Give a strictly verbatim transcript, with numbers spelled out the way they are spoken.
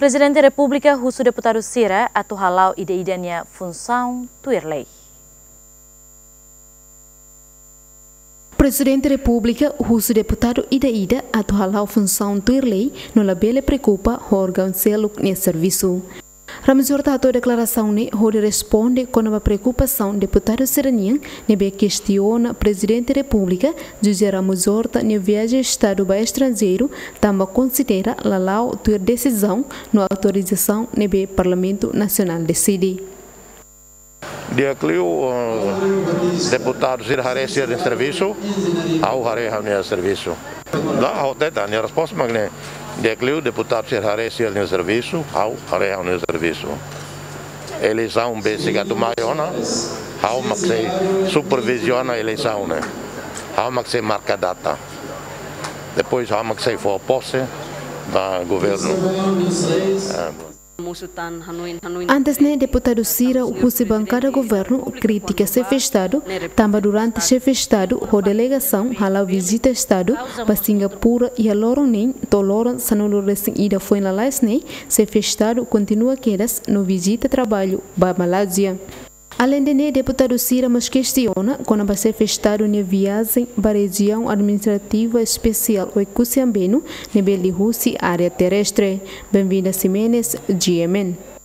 Prezidente Repúblika husu deputadu sira atu hala'o ida-idak nia funsaun tuir lei. Prezidente Repúblika husu deputadu ida-idak atu hala'o funsaun tuir lei no labele preokupa ho órgaun seluk nia servisu. Ramos Horta hato'o deklarasaun ne'e hodi responde kona-ba preokupasaun deputadu sira-nian ne'ebé kestiona Prezidente Repúblika José Ramos Horta nia viajen Estadu ba estranjeiru tanba konsidera la la'o tuir desizaun no autorizasaun ne'ebé Parlamentu Nasionál deside. Di'ak liu, eh, deputadu sira haree sira-nia servisu, ha'u haree ha'u-nia servisu. Lae, ha'u hatete, ha'u-nia resposta mak ne'e. Di'ak liu, deputadu sira haree sira-nia servisu, ha'u haree ha'u-nia servisu. Eleisaun besik atu mai ona, ha'u mak sei superviziona eleisaun ne'e. Ha'u mak sei marka data. Depois ha'u mak sei fó pose ba governu. Eh, Antes ne'e, deputadu sira husi bankada governu kritika Xefe Estadu, tanba durante Xefe Estadu ho delegasaun hala'o vizita Estadu ba Singapura iha loron neen to'o loron sanulu-resin-ida foin lalais ne'e, Xefe Estadu kontinua kedas no vizita traballu ba Malázia. Aleinde ne'e, deputadu sira mós kestiona kona-ba Xefe Estadu nia viajen ba Rejiaun Administrativa Espesiál Oekusi Ambenu ne'ebé liuhusi área terrestre. Benvinda Ximenes, G M N.